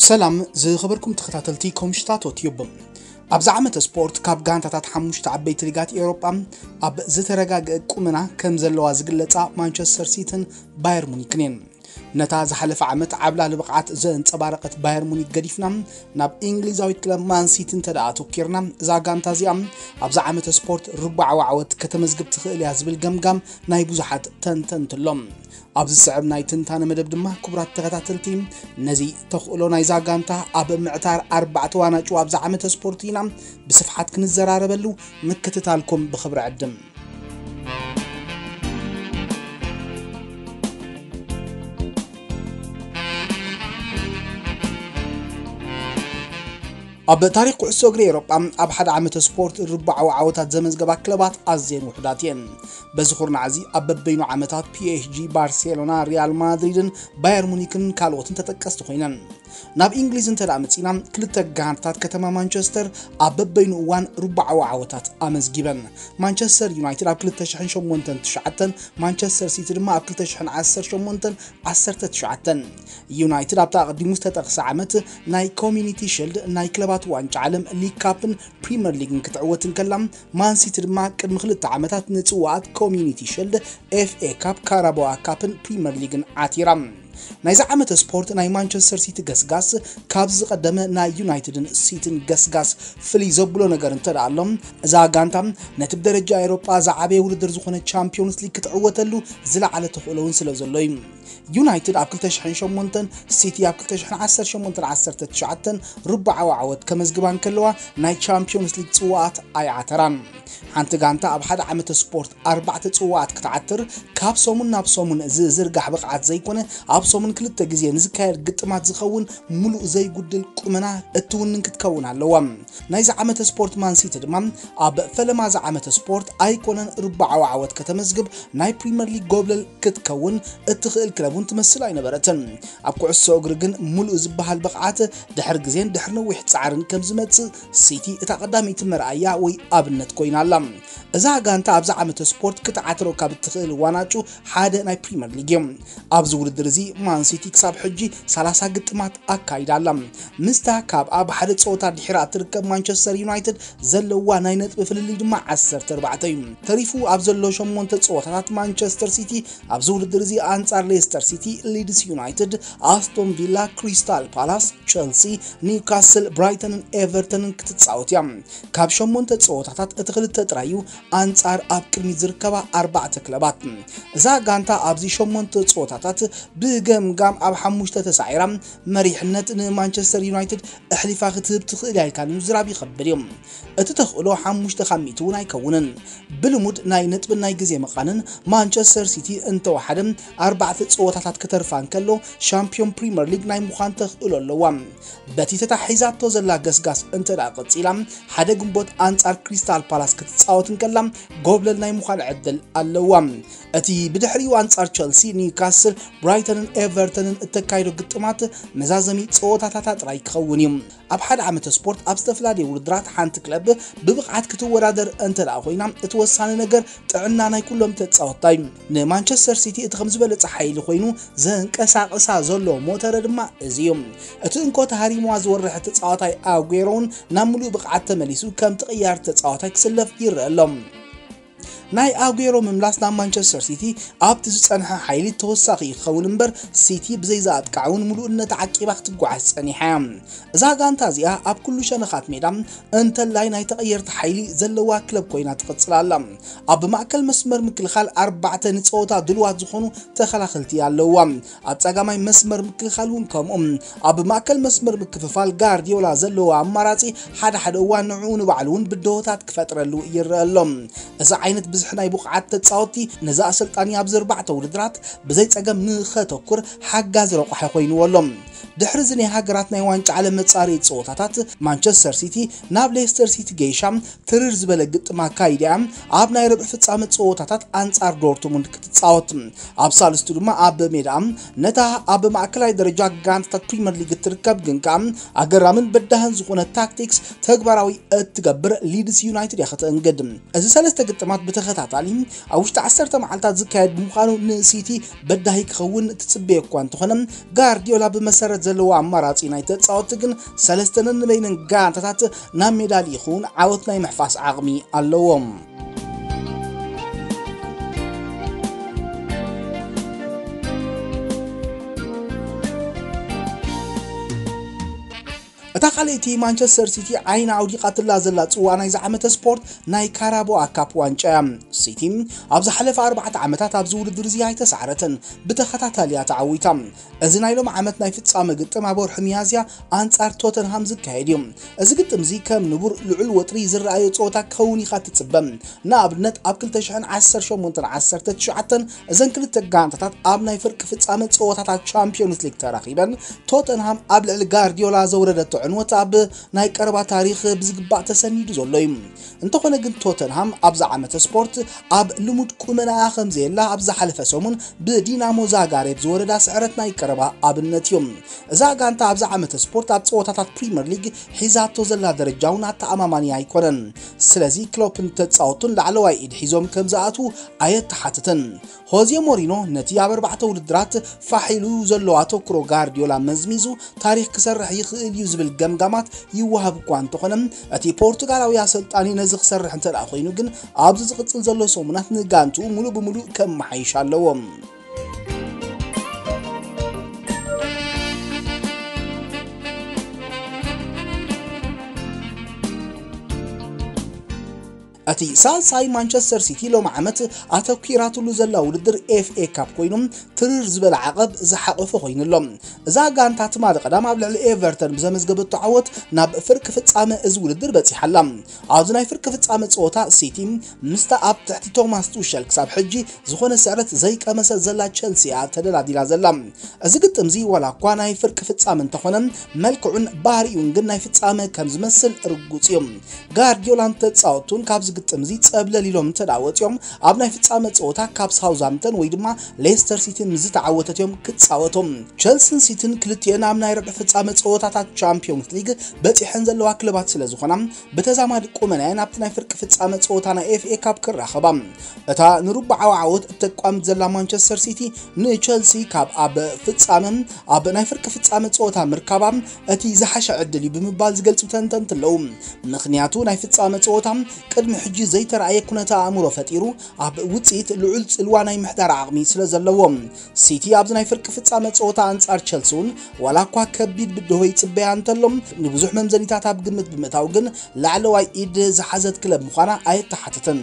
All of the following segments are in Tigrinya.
ሰላም ዝኸበርኩም ተኸታተልቲ ኮምሽታቶ ቲዩብ። ኣብዚ ዓመተ ስፖርት ካብ ጋንታታት ሓሙሽተ ዓበይቲ ሊጋት ኤውሮጳ ኣብ ዝተረጋገአ ቁመና ከም ዘለዋ ዝግለጻ ማንቸስተር ሲትን ባየር ሙኒክን እየን። ነታ ዝሓለፈ ዓመት ዓብላሊ ብቕዓት ዘንጸባረቐት ባየር ሙኒክ ገዲፍና ናብ እንግሊዛዊት ክለብ ማን ሲቲ እንተ ደኣ ኣተኲርና፣ እዛ ጋንታ እዚኣ ኣብዚ ዓመተ ስፖርት ርቡዓዊ ዓወት ከተመዝግብ ትኽእል እያ ዝብል ገምጋም ናይ ብዙሓት ተንተንቲ ኣሎ። ኣብዚ ዝስዕብ ናይ ትንታነ መደብ ድማ ክቡራት ተኸታተልቲ ነዚ ተኽእሎ ናይዛ ጋንታ ኣብ ምዕታር ኣርባዕተ ዋናጩ ኣብዚ ዓመተ ስፖርት ኢና ብስፍሓት ክንዘራረበሉ ምክትታልኩም ብኽብሪ ዕድም። ኣብ ታሪኽ ኩዕሶ እግሪ ኤውሮጳ ኣብ ሓደ ዓመተ ስፖርት ርቡዓዊ ዓወታት ዘመዝገባ ክለባት ኣዝየን ውሑዳት እየን። በዚ ኩርናዕ እዚ ኣብ በበይኑ ዓመታት ፒ ኤስ ጂ፣ ባርሴሎና፣ ሪያል ማድሪድን ባየር ሙኒክን ካልኦትን ተጠቀስቲ ኮይነን። ናብ እንግሊዝ እንተ ደኣ መጺና ክልተ ጋንታት ከተማ ማንቸስተር ኣብ በበይኑ እዋን ርቡዓዊ ዓወታት ኣመዝጊበን። ማንቸስተር ዩናይትድ ኣብ ክልተ ሽሕን ሸሞንተን ትሽዓተን፣ ማንቸስተር ሲቲ ድማ ኣብ ክልተ ሽሕን ዓሰርተ ሸሞንተን ዓሰርተ ትሽዓተን። ዩናይትድ ኣብቲ ኣቐዲሙ ዝተጠቕሰ ዓመት ናይ ኮሚኒቲ ሽልድ፣ ናይ ክለባት ዋንጫ ዓለም፣ ሊግ ካፕን ፕሪምየር ሊግን ክትዕወት እንከላ፣ ማን ሲቲ ድማ ቅድሚ ክልተ ዓመታት ንጽዋኣት ኮሚኒቲ ሽልድ፣ ኤፍ ኤ ካፕ፣ ካራባዋ ካፕን ፕሪምየር ሊግን ዓቲራ። ናይዚ ዓመተ ስፖርት ናይ ማንቸስተር ሲቲ ገስጋስ ካብዚ ዝቐደመ ናይ ዩናይትድን ሲቲን ገስጋስ ፍልይ ዘብሎ ነገር እንተ ደኣ ኣሎ፣ እዛ ጋንታ ነቲ ብደረጃ ኤውሮጳ ዝዓበየ ውድድር ዝኾነ ቻምፒዮንስ ሊግ ክትዕወተሉ ዝለዓለ ተኽእሎ እውን ስለ ዘሎ እዩ። ዩናይትድ ኣብ ክልተ ሽሕን ሸሞንተን፣ ሲቲ ኣብ ክልተ ሽሕን ዓሰርተ ሸሞንተን ዓሰርተ ትሽዓተን ርቡዓዊ ዓወት ከመዝግባ እንከለዋ፣ ናይ ቻምፒዮንስ ሊግ ጽዋኣት ኣይዓተራን። ሓንቲ ጋንታ ኣብ ሓደ ዓመተ ስፖርት ኣርባዕተ ጽዋኣት ክትዓትር፣ ካብ ሰሙን ናብ ሰሙን ዝዝርጋሕ ብቕዓት ዘይኮነ፣ ኣብ ሰሙን ክልተ ግዜ ንዝካየድ ግጥማት ዝኸውን ምሉእ ዘይጉድል ቁመና እትውንን ክትከውን ኣለዋ። ናይዚ ዓመተ ስፖርት ማን ሲቲ ድማ ኣብ ፈለማ እዚ ዓመተ ስፖርት ኣይኮነን ርቡዓዊ ዓወት ከተመዝግብ፣ ናይ ፕሪምየር ሊግ ጎብለል ክትከውን እትኽእል ክለብ እውን ትመስል ኣይነበረትን። ኣብ ኩዕሶ እግሪ ግን ምሉእ ዝበሃል ብቕዓት ድሕሪ ግዜን ድሕሪ ነዊሕ ጻዕርን ከም ዝመጽእ ሲቲ እታ ቀዳመይቲ መርኣያ ወይ ኣብነት ኮይና ኣላ። እዛ ጋንታ ኣብዚ ዓመተ ስፖርት ክትዓትሮ ካብ እትኽእል ዋናጩ ሓደ ናይ ፕሪምየር ሊግ እዩ። ኣብዚ ውድድር እዚ ማን ሲቲ ክሳብ ሕጂ ሰላሳ ግጥማት ኣካይዳ ኣላ። ምስታ ካብ ኣብ ሓደ ጸወታ ድሒራ እትርከብ ማንቸስተር ዩናይትድ ዘለዋ ናይ ነጥቢ ፍልልይ ድማ ዓሰርተ ኣርባዕተ እዩ። ተሪፉ ኣብ ዘሎ ሸሞንተ ጸወታታት ማንቸስተር ሲቲ ኣብዚ ውድድር እዚ ኣንጻር ሌስተር ሲቲ፣ ሊድስ ዩናይትድ፣ ኣስቶን ቪላ፣ ክሪስታል ፓላስ፣ ቸልሲ፣ ኒውካስል፣ ብራይተንን ኤቨርተንን ክትጻወት እያ። ካብ ሸሞንተ ጸወታታት እቲ ክልተ ጥራይ እዩ ኣንጻር ኣብ ቅድሚት ዝርከባ ኣርባዕተ ክለባት። እዛ ጋንታ ኣብዚ ሸሞንተ ጸወታታት ብገምጋም ኣብ ሓሙሽተ ተሳዒራ፣ መሪሕነት ንማንቸስተር ዩናይትድ ኣሕሊፋ ክትህብ ትኽእል እያ ኢልካ ንምዝራብ ይኸብድ እዩ። እቲ ተኽእሎ ሓሙሽተ ካብ ሚእቲ እውን ኣይከውንን። ብልሙድ ናይ ነጥብን ናይ ግዜ መቓንን ማንቸስተር ሲቲ እንተወሓደ ኣርባዕተ ጸወታታት ክተርፋ እንከሎ፣ ሻምፒዮን ፕሪምየር ሊግ ናይ ምዃን ተኽእሎ ኣለዋ። በቲ ተታሒዛቶ ዘላ ገስጋስ እንተ ደኣ ቀጺላ፣ ሓደ ግንቦት ኣንጻር ክሪስታል ፓላስ ክትጻወት እንከላ፣ ጎብለል ናይ ምዃን ዕድል ኣለዋ። እቲ ብድሕሪኡ ኣንጻር ቸልሲ፣ ኒውካስል፣ ብራይተንን ኤቨርተንን እተካይዶ ግጥማት መዛዘሚ ጸወታታታ ጥራይ ክኸውን እዩ። ኣብ ሓደ ዓመተ ስፖርት ኣብ ዝተፈላለየ ውድድራት ሓንቲ ክለብ ብብቕዓት ክትወዳደር እንተ ደኣ ኮይና፣ እቲ ወሳኒ ነገር ጥዕና ናይ ኩሎም ተጻወትታ እዩ። ንማንቸስተር ሲቲ እቲ ከም ዝበለጸ ሓይሊ ኮይኑ ዘንቀሳቕሳ ዘሎ ሞተረ ድማ እዚ እዩ። እቲ እንኮ ተሃሪምዋ ዝወርሕ ተጻዋታይ ኣጉዌሮ እውን ናብ ምሉእ ብቕዓት ተመሊሱ ከምቲ ቅያር ተጻዋታይ ክስለፍ ይረአ ኣሎ። ናይ ኣጉዌሮ ምምላስ ናብ ማንቸስተር ሲቲ ኣብቲ ዝጸንሐ ሓይሊ ተወሳኺ ክኸውን እምበር፣ ሲቲ ብዘይ ዘኣጥቃዕ እውን ምሉእነት ዓቂባ ክትጓዓዝ ጸኒሓ እያ። እዛ ጋንታ እዚኣ ኣብ ኩሉ ሸነኻት ሜዳ እንተላይ ናይ ተቐየርቲ ሓይሊ ዘለዋ ክለብ ኮይና ትቕጽል ኣላ። ኣብ ማእከል መስመር ምክልኻል ኣርባዕተ ንጸወታ ድሉዋት ዝኾኑ ተኸላኸልቲ ኣለዋ። ኣብ ጸጋማይ መስመር ምክልኻል እውን ከምኡ። ኣብ ማእከል መስመር ምክፍፋል ጋርዲዮላ ዘለዎ ኣማራጺ ሓደ ሓደ እዋን ንዕኡ ንባዕሉ እውን ብድሆታት ክፈጥረሉ ይረአ ኣሎ። እዚ ዓይነት ብዝሒ ናይ ብቕዓት ተጻወትቲ ነዚ ኣሰልጣኒ ኣብዚ ኣርባዕተ ውድድራት ብዘይ ጸገም ንኸተኩር ሓጋዚ ረቋሒ ኮይንዎ ኣሎ። ድሕሪ እዚ ናይ ሃገራት ናይ ዋንጫ ዓለም መጻረዪ ጸወታታት ማንቸስተር ሲቲ ናብ ሌስተር ሲቲ ገይሻ ትርር ዝበለ ግጥም ኣካይዳ እያ ኣብ ናይ ረብዒ ፍጻመ ጸወታታት ኣንጻር ዶርትሙንድ ክትጻወት። ኣብ ሳልስቱ ድማ ኣብ ሜዳ ነታ ኣብ ማእከላይ ደረጃ ጋንታታት ፕሪምየር ሊግ እትርከብ ግን ከኣ ኣገራምን በዳህን ዝኾነ ታክቲክስ ተግባራዊ እትገብር ሊድስ ዩናይትድ እያ ከተእንግድ። እዚ ሰለስተ ግጥማት ብተኸታታሊ ኣብ ውሽጢ ዓሰርተ መዓልታት ዝካየድ ብምዃኑ ንሲቲ በዳሂ ክኸውን ትጽበዮ እኳ እንተኾነ፣ ጋርዲዮላ ብመሰረት ዘለዎ ኣማራጺ ናይ ተጻወትቲ ግን ሰለስተ ነንበይነን ጋንታታት ናብ ሜዳ ልኢኹ እውን ዓወት ናይ ምሕፋስ ዓቕሚ ኣለዎም። እታ ካልኣይቲ ማንቸስተር ሲቲ ዓይና ኣውዲቓትላ ዘላ ጽዋ ናይዚ ዓመተ ስፖርት ናይ ካራቦኣ ካፕ ዋንጫ እያ። ሲቲ ኣብ ዝሓለፈ ኣርባዕተ ዓመታት ኣብዚ ውድድር እዚ ኣይተሳዕረትን፣ ብተኸታታሊ እያ ተዓዊታ። እዚ ናይ ሎም ዓመት ናይ ፍጻመ ግጥም ኣብ ወርሒ ሚያዝያ ኣንጻር ቶተንሃም ዝካየድ እዩ። እዚ ግጥም እዚ ከም ንቡር ልዑል ወጥሪ ዝረኣዮ ጸወታ ክኸውን ኢኻ ትጽበ። ንኣብነት ኣብ ክልተ ሽሕን ዓሰርተ ሸሞንተን ዓሰርተ ትሽዓተን እዘን ክልተ ጋንታታት ኣብ ናይ ፍርቂ ፍጻመ ጸወታታት ቻምፒዮንስ ሊግ ተራኺበን፣ ቶተንሃም ኣብ ልዕሊ ጋርዲዮላ ዘውረደቶ ዕንወት ኣብ ናይ ቀረባ ታሪኽ ብዝግባእ ተሰኒዱ ዘሎ እዩ። እንተኾነ ግን ቶተንሃም ኣብዛ ዓመተ ስፖርት ኣብ ልሙድ ቁመናኣ ከም ዘየላ ኣብ ዝሓለፈ ሰሙን ብዲናሞ ዛጋሬብ ዝወረዳ ስዕረት ናይ ቀረባ ኣብነት እዩ። እዛ ጋንታ ኣብዛ ዓመተ ስፖርት ኣብ ጸወታታት ፕሪምየር ሊግ ሒዛቶ ዘላ ደረጃ እውን ኣተኣማማኒ ኣይኮነን። ስለዚ ክሎፕን ተጻወቱን ላዕለዋይ ኢድ ሒዞም ከም ዝኣትዉ ኣየተሓትትን። ሆዜ ሞሪኖ ነቲ ኣብ ኣርባዕተ ውድድራት ፋሕ ኢሉ ዘሎ ኣተኩሮ ጋርዲዮላ መዝሚዙ ታሪኽ ክሰርሕ ይኽእል እዩ ዝብል ገምጋማት ይወሃብ እኳ እንተኾነ፣ እቲ ፖርቱጋላዊ ኣሰልጣኒ ነዚ ክሰርሕ እንተ ደኣ ኮይኑ ግን ኣብዚ ዝቕጽል ዘሎ ሰሙናት ንጋንትኡ ሙሉእ ብሙሉእ ከመሓይሽ ኣለዎ። እቲ ሳልሳይ ማንቸስተር ሲቲ ሎም ዓመት ኣተኲራትሉ ዘላ ውድድር ኤፍ ኤ ካፕ ኮይኑ ትርር ዝበለ ዓቐብ ዝሓቐፈ ኮይኑ ኣሎ። እዛ ጋንታ ትማሊ ቀዳም ኣብ ልዕሊ ኤቨርተን ብዘመዝገበቶ ዓወት ናብ ፍርቂ ፍጻመ እዚ ውድድር በጺሓ ኣላ። ኣብዚ ናይ ፍርቂ ፍጻመ ጸወታ ሲቲ ምስታ ኣብ ትሕቲ ቶማስ ቱሸል ክሳብ ሕጂ ዝኾነ ስዕረት ዘይቀመሰት ዘላ ቸልሲ እያ ተደላዲላ ዘላ። እዚ ግጥም እዚ ዋላ እኳ ናይ ፍርቂ ፍጻመ እንተኾነ፣ መልክዑን ባህሪኡን ግን ናይ ፍጻመ ከም ዝመስል ርጉጽ እዩ። ጋርዲዮላን ተጻወቱን ካብዚ ግጥም እዚ ጸብለል ኢሎም እንተ ደኣ ወጺኦም፣ ኣብ ናይ ፍጻመ ጸወታ ካብ ሳውዝሃምፕተን ወይ ድማ ሌስተር ሲቲ ምስ ዝተዓወተት እዮም ክጻወቱ። ቸልሲን ሲቲን ክልቲኤን ኣብ ናይ ርብዒ ፍጻመ ጸወታታት ቻምፒዮንስ ሊግ በጺሐን ዘለዋ ክለባት ስለ ዝኾና፣ ብተዛማዲ ቁመናየን ኣብቲ ናይ ፍርቂ ፍጻመ ጸወታ ናይ ኤፍ ኤ ካፕ ክራኸባ። እታ ንርብዓዊ ዓወት እተቋምት ዘላ ማንቸስተር ሲቲ ንቸልሲ ካብ ኣብ ፍጻመ፣ ኣብ ናይ ፍርቂ ፍጻመ ጸወታ ምርካባ እቲ ዝሓሸ ዕድል እዩ ብምባል ዝገልጹ ተንተንቲ ኣለዉ። ምኽንያቱ ናይ ፍጻመ ጸወታ ቅድሚ ሕጂ ዘይተራእየ ኩነተ ኣእምሮ ፈጢሩ ኣብ ውጽኢት ልዑል ጽልዋ ናይ ምሕዳር ዓቕሚ ስለ ዘለዎ። ሲቲ ኣብዚ ናይ ፍርቂ ፍጻመ ጸወታ ኣንጻር ቸልሲ እውን ዋላ እኳ ከቢድ ብድሆ ይጽበያ እንተሎ፣ ንብዙሕ መምዘኒታት ኣብ ግምት ብምእታው ግን ላዕለዋይ ኢድ ዝሓዘት ክለብ ምዃና ኣየተሓትትን።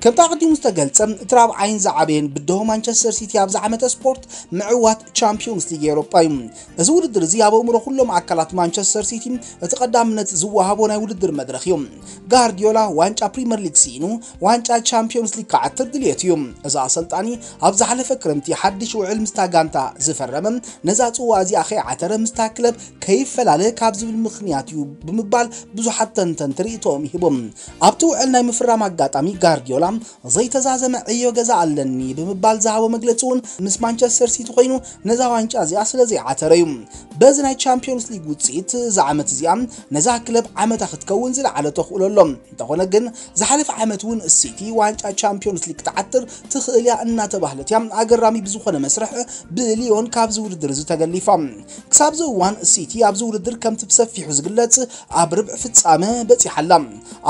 ከምቲ ኣቐዲሙ ዝተገልጸ፣ እቲ ራብዓይን ዝዓበየን ብድሆ ማንቸስተር ሲቲ ኣብዚ ዓመተ ስፖርት ምዕዋት ቻምፒዮንስ ሊግ ኤውሮጳ እዩ። እዚ ውድድር እዚ ኣብ ኣእምሮ ኩሎም ኣካላት ማንቸስተር ሲቲ እቲ ቀዳምነት ዝወሃቦ ናይ ውድድር መድረኽ እዩ። ጋርዲዮላ ዋንጫ ፕሪምየር ሊግ ስኢኑ ዋንጫ ቻምፒዮንስ ሊግ ክዓትር ድልየት እዩ። እዚ ኣሰልጣኒ ኣብ ዝሓለፈ ክረምቲ ሓድሽ ውዕል ምስታ ጋንታ ዝፈረመ፣ ነዛ ጽዋ እዚኣ ከይዓተረ ምስታ ክለብ ከይፈላለ ካብ ዝብል ምኽንያት እዩ ብምባል ብዙሓት ተንተንቲ ርእይቶኦም ይህቦም። ኣብቲ ውዕል ናይ ምፍራም ኣጋጣሚ ጋርዲዮላ ዘይተዛዘመ ዕዮ ገዛ ኣለኒ ብምባል ዝሃቦ መግለጺ እውን ምስ ማንቸስተር ሲቲ ኮይኑ ነዛ ዋንጫ እዚኣ ስለ ዘይዓተረ እዩ። በዚ ናይ ቻምፒዮንስ ሊግ ውጽኢት እዛ ዓመት እዚኣ ነዛ ክለብ ዓመታ ክትከውን ዝለዓለ ተኽእሎ ኣሎ። እንተኾነ ግን ዝሓለፈ ዓመት እውን ሲቲ ዋንጫ ቻምፒዮንስ ሊግ ክትዓትር ትኽእል እያ እናተባህለት እያ ኣገራሚ ብዝኾነ መስርሕ ብሊዮን ካብዚ ውድድር እዚ ተገሊፋ። ክሳብዚ እዋን ሲቲ ኣብዚ ውድድር ከምቲ ብሰፊሑ ዝግለጽ ኣብ ርብዒ ፍጻመ በጺሓ ኣላ።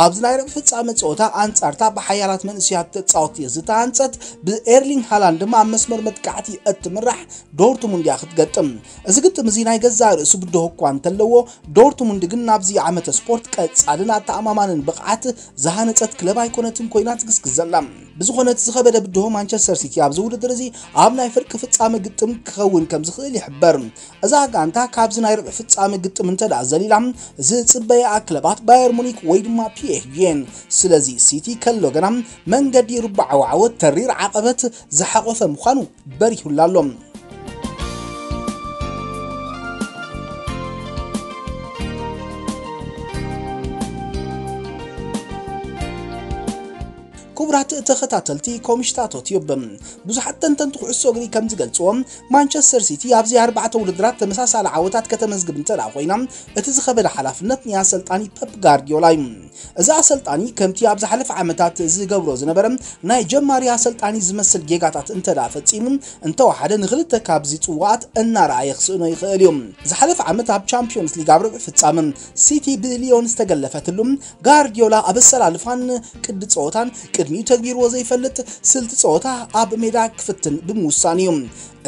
ኣብዚ ናይ ርብዒ ፍጻመ ጸወታ ኣንጻርታ ብሓያላት መንእሰያት ተጻወትቲ ዝተሃንጸት ብኤርሊንግ ሃላንድ ድማ ኣብ መስመር መጥቃዕቲ እትምራሕ ዶርትሙንድ እያ ክትገጥም። እዚ ግጥም እዚ ናይ ገዛእ ርእሱ ብድሆ እኳ እንተለዎ፣ ዶርትሙንድ ግን ናብዚ ዓመተ ስፖርት ቀጻልን ኣተኣማማንን ብቕዓት ዝሃነጸት ክለብ ኣይኮነትን ኮይና ትግስግስ ዘላ። ብዝኾነ እቲ ዝኸበደ ብድሆ ማንቸስተር ሲቲ ኣብዚ ውድድር እዚ ኣብ ናይ ፍርቂ ፍጻመ ግጥም ክኸውን ከም ዝኽእል ይሕበር። እዛ ጋንታ ካብዚ ናይ ርብዒ ፍጻመ ግጥም እንተ ደኣ ዘሊላ፣ ዝጽበያ ክለባት ባየር ሙኒክ ወይ ድማ ፒ ኤስ ጂ እየን። ስለዚ ሲቲ ከሎ ገና መንገዲ ርብዓዊ ዓወት ተሪር ዓቐበት ዝሓቖፈ ምዃኑ በሪሁላ ኣሎ። ክቡራት ተኸታተልቲ ኮምሽታቶ ቲዩብ፣ ብዙሓት ተንተንቲ ኩዕሶ እግሪ ከም ዝገልጽዎ፣ ማንቸስተር ሲቲ ኣብዚ ኣርባዕተ ውድድራት ተመሳሳሊ ዓወታት ከተመዝግብ እንተ ደኣ ኮይና፣ እቲ ዝኸበደ ሓላፍነት ናይ ኣሰልጣኒ ፐፕ ጋርዲዮላ እዩ። እዚ ኣሰልጣኒ ከምቲ ኣብ ዝሓለፈ ዓመታት ዝገብሮ ዝነበረ ናይ ጀማሪ ኣሰልጣኒ ዝመስል ጌጋታት እንተ ደኣ ፈጺሙ፣ እንተወሓደ ንኽልተ ካብዚ ጽዋኣት እናረኣየ ክስእኖ ይኽእል እዩ። ዝሓለፈ ዓመት ኣብ ቻምፒዮንስ ሊግ ኣብ ርብዒ ፍጻመ ሲቲ ብሊዮን ዝተገለፈትሉ፣ ጋርዲዮላ ኣብ ኣሰላልፋን ቅዲ ጸወታን ቅድሚኡ ተግቢርዎ ዘይፈልጥ ስልቲ ጸወታ ኣብ ሜዳ ክፍትን ብምውሳን እዩ።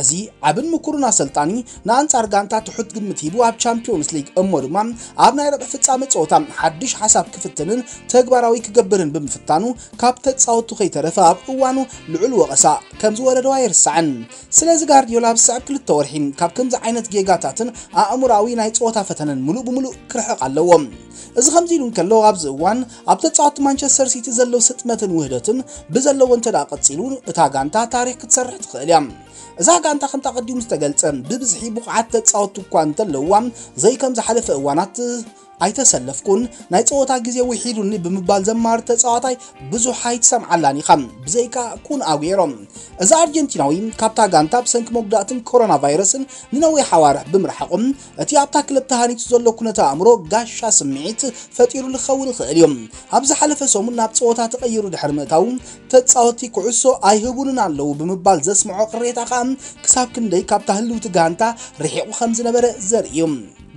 እዚ ዓብን ምኩሩን ኣሰልጣኒ ንኣንጻር ጋንታ ትሑት ግምት ሂቡ ኣብ ቻምፒዮንስ ሊግ እሞ ድማ ኣብ ናይ ረብዒ ፍጻመ ጸወታ ሓድሽ ሓሳብ ክፍትንን ተግባራዊ ክገብርን ብምፍታኑ ካብ ተጻወቱ ከይተረፈ ኣብ እዋኑ ልዑል ወቐሳ ከም ዝወረዶ ኣይርሳዕን። ስለዚ ጋርዲዮላ ኣብ ዝስዕብ ክልተ ወርሒ ካብ ከምዚ ዓይነት ጌጋታትን ኣእምሮኣዊ ናይ ጸወታ ፈተነን ምሉእ ብምሉእ ክርሕቕ ኣለዎ። እዚ ከምዚ ኢሉ እንከሎ ኣብዚ እዋን ኣብ ተጻወቲ ማንቸስተር ሲቲ ዘሎ ስጥመትን ውህደትን ብዘለዎ እንተ ደኣ ቀጺሉ እታ ጋንታ ታሪኽ ክትሰርሕ ትኽእል እያ። እዛ ጋንታ ከምታ ቀዲሙ ዝተገልጸ ብብዝሒ ብቑዓት ተጻወቲ እኳ እንተለውዋ ዘይከም ዝሓለፈ እዋናት ኣይተሰለፍኩን፣ ናይ ጸወታ ግዜ ውሒዱኒ ብምባል ዘማር ተጻዋታይ ብዙሕ ኣይትሰምዓላን ኢኻ፣ ብዘይካ ኩን ኣጉዌሮ። እዚ ኣርጀንቲናዊ ካብታ ጋንታ ብሰንኪ መጉዳእትን ኮሮና ቫይረስን ንነዊሕ ኣዋርሕ ብምርሓቑ፣ እቲ ኣብታ ክለብ ተሃኒጹ ዘሎ ኩነተ ኣእምሮ ጋሻ ስምዒት ፈጢሩ ክኸውን ይኽእል እዩ። ኣብ ዝሓለፈ ሰሙን ናብ ጸወታ ተቐይሩ ድሕሪ ምእታዉ፣ ተጻወቲ ኩዕሶ ኣይህቡንን ኣለዉ ብምባል ዘስምዖ ቅሬታ ከኣ ክሳብ ክንደይ ካብታ ህልውቲ ጋንታ ርሒቑ ከም ዝነበረ ዘርኢ እዩ።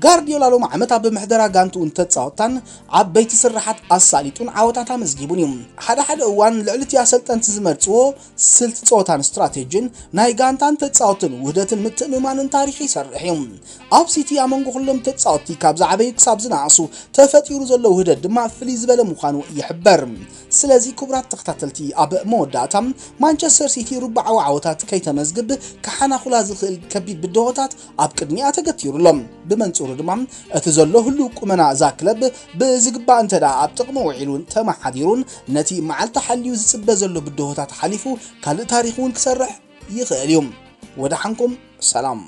ጋርዲዮላ ሎም ዓመት ኣብ ምሕደራ ጋንትኡን ተጻወታን ዓበይቲ ስርሓት ኣሳሊጡን ዓወታት ኣመዝጊቡን እዩ። ሓደ ሓደ እዋን ልዕሊ እቲ ኣሰልጠንቲ ዝመርጽዎ ስልቲ ጸወታን ስትራቴጂን ናይ ጋንታን ተጻወትን ውህደትን ምትእምማንን ታሪኽ ይሰርሕ እዩ። ኣብ ሲቲ ኣብ መንጎ ኩሎም ተጻወቲ ካብ ዝዓበዩ ክሳብ ዝነኣሱ ተፈጢሩ ዘሎ ውህደት ድማ ፍልይ ዝበለ ምዃኑ ይሕበር። ስለዚ ክቡራት ተኸታተልቲ ኣብ መወዳእታ ማንቸስተር ሲቲ ርብዓዊ ዓወታት ከይተመዝግብ ክሓናኹላ ዝኽእል ከቢድ ብድሆታት ኣብ ቅድሚኣ ተገቲሩ ኣሎ። ብመንጽሩ ድማ እቲ ዘሎ ህሉው ቁመና እዛ ክለብ ብዝግባእ እንተ ደኣ ኣብ ጥቕሚ ውዒሉን ተመሓዲሩን ነቲ መዓልቲ ሓልዩ ዝጽበ ዘሎ ብድሆታት ሓሊፉ ካልእ ታሪኽ እውን ክሰርሕ ይኽእል እዩ። ወደሓንኩም ሰላም።